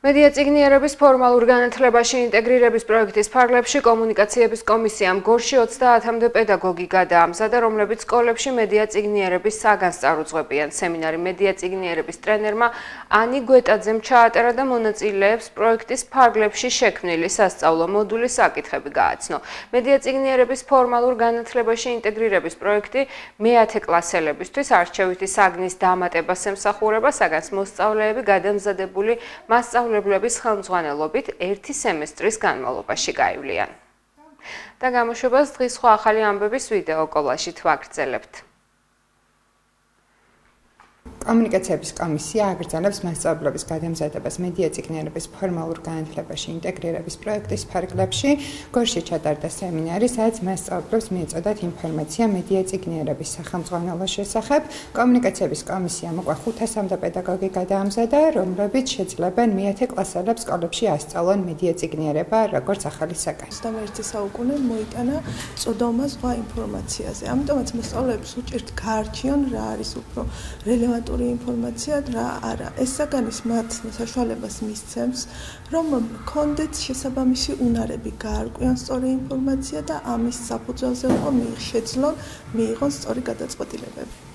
მედია წიგნიერების ფორმალურ განათლებაში ინტეგრირების პროექტის ფარგლებში კომუნიკაციების კომისიამ გორში 30-მდე პედაგოგი გადაამზადა, რომლებიც სკოლებში მედია წიგნიერების საგანს წარუძღვებიან. სემინარი მედია წიგნიერების ტრენერმა ანი გვეტაძემ ჩაატერა და მონაწილეებს პროექტის ფარგლებში შექმნილი სასწავლო მოდულის საკითხები გააცნო. მედია წიგნიერების ფორმალურ განათლებაში ინტეგრირების პროექტი მე-10 კლასელებისთვის არჩევითი საგნის დამატებას ემსახურება, საგანს მოსწავლეები გადამზადებული მასწავლებლების ხელმძღვანელობით ერთი სემესტრის განმავლობაში გაივლიან. და გამოშვებას დღის სხვა ახალი ამბების ვიდეო კოლაჟით ვაგრძელებთ. კომუნიკაციების კომისია აგრძელებს მასწავლებლების გადამზადებას მედია წიგნიერების ფორმალურ განათლებაში ინტეგრირების პროექტის ფარგლებში. გორში ჩატარდა სემინარი, სადაც მასწავლებლებს მიეწოდათ ინფორმაცია მედია წიგნიერების სახელმძღვანელოს შესახებ. კომუნიკაციების კომისიამ უკვე 500-მდე პედაგოგი გადაამზადა, რომლებიც შეძლებენ მე-10 კლასელებს სკოლებში ასწავლონ მედია წიგნიერება როგორც ახალი საგანი. 21 საუკუნე მოიტანა წოდომა ზღვა ინფორმაციაზე. ამიტომაც მოსწავლეებს უჭირთ გაარჩიონ რა არის უფრო რელევანტური ინფორმაცია რა არა. ეს საგანის მათ საშუალებას მისცემს, რომ კონდეთ შესაბამისი უნარები გაარკვიონ სწორი ინფორმაცია და ამის საფუძველზე უკვე შეძლონ მიიღონ სწორი გადაწყვეტილებები.